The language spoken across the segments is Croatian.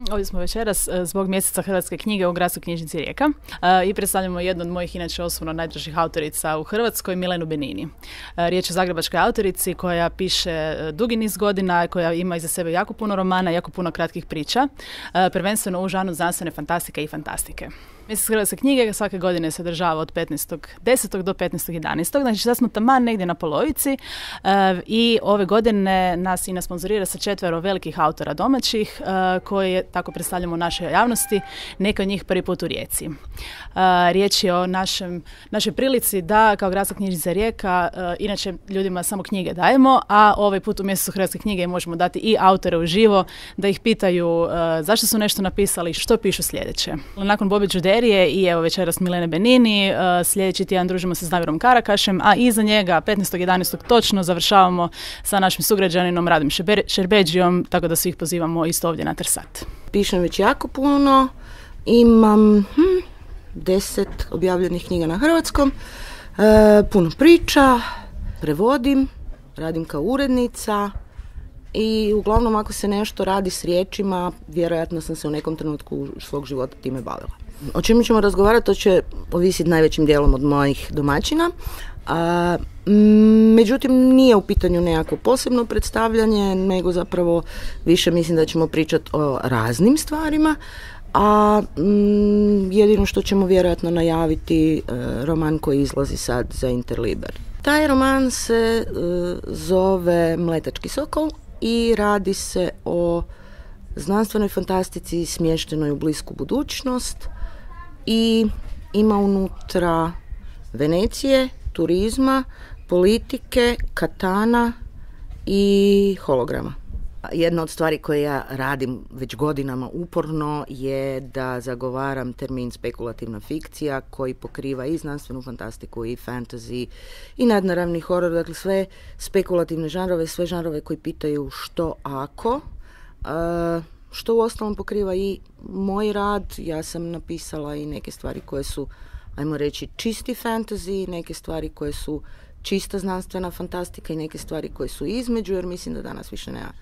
Ovdje smo večeras zbog mjeseca hrvatske knjige u Gradskoj knjižnici Rijeka i predstavljamo jednu od mojih inače osobno najdražih autorica u Hrvatskoj, Milenu Benini. Riječ je o zagrebačkoj autorici koja piše dugi niz godina, koja ima iza sebe jako puno romana, jako puno kratkih priča, prvenstveno u žanru znanstvene fantastike i fantastike. Mjesec hrvatske knjige svake godine se održava od 15.10. do 15.11. Znači sad smo taman negdje na polovici i ove godine nas INA sponzorira sa 4 velikih autora domaćih koje tako predstavljamo u našoj javnosti, neka od njih prvi put u Rijeci. Riječ je o našoj prilici da kao Gradska knjižnica Rijeka inače ljudima samo knjige dajemo, a ovaj put u mjesecu hrvatske knjige možemo dati i autore uživo da ih pitaju zašto su nešto napisali, što pišu sljedeće. Nakon Bobe Đuderije i evo večeras Milene Benini, sljedeći tjedan družimo se s Damirom Karakašem, a iza njega 15.11. točno završavamo sa našim sugrađaninom Radim Šerbeđijom, tako da svih pozivamo isto ovdje na Trsat. Pišem već jako puno, imam 10 objavljenih knjiga na hrvatskom, puno priča, prevodim, radim kao urednica i uglavnom ako se nešto radi s riječima, vjerojatno sam se u nekom trenutku svog života time bavila. O čemu ćemo razgovarati, to će ovisiti najvećim dijelom od mojih domaćina. Međutim, nije u pitanju nekako posebno predstavljanje, nego zapravo više mislim da ćemo pričati o raznim stvarima, a jedino što ćemo vjerojatno najaviti roman koji izlazi sad za Interliber. Taj roman se zove Mletački sokol i radi se o znanstvenoj fantastici smještenoj u blisku budućnost i ima unutra Venecije, turizma, politike, katana i holograma. Jedna od stvari koje ja radim već godinama uporno je da zagovaram termin spekulativna fikcija koji pokriva i znanstvenu fantastiku i fantasy i nadnaravni horor, dakle sve spekulativne žanrove, sve žanrove koji pitaju što ako, što uostalom pokriva i moj rad. Ja sam napisala i neke stvari koje su, ajmo reći, čisti fantasy, neke stvari koje su čista znanstvena fantastika i neke stvari koje su između, jer mislim da danas više nema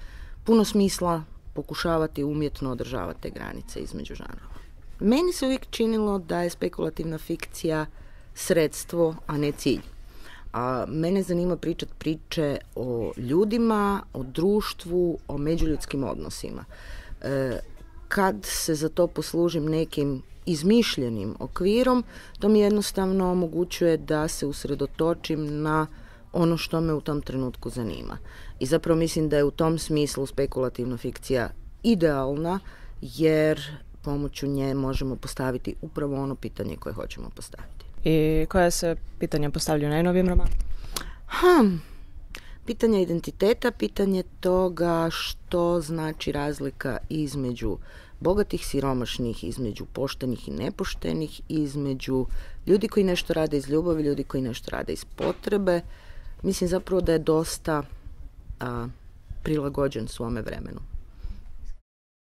puno smisla pokušavati umjetno održavati te granice između žanrova. Meni se uvijek činilo da je spekulativna fikcija sredstvo, a ne cilj. A mene zanima pričati priče o ljudima, o društvu, o međuljudskim odnosima. Kad se za to poslužim nekim izmišljenim okvirom, to mi jednostavno omogućuje da se usredotočim na ono što me u tom trenutku zanima. I zapravo mislim da je u tom smislu spekulativna fikcija idealna, jer pomoću nje možemo postaviti upravo ono pitanje koje hoćemo postaviti. I koja se pitanja postavljaju u najnovijem romanu? Pitanje identiteta, pitanje toga što znači razlika između bogatih, siromašnih, između poštenih i nepoštenih, između ljudi koji nešto rade iz ljubavi, ljudi koji nešto rade iz potrebe. Mislim zapravo da je dosta prilagođen svome vremenu.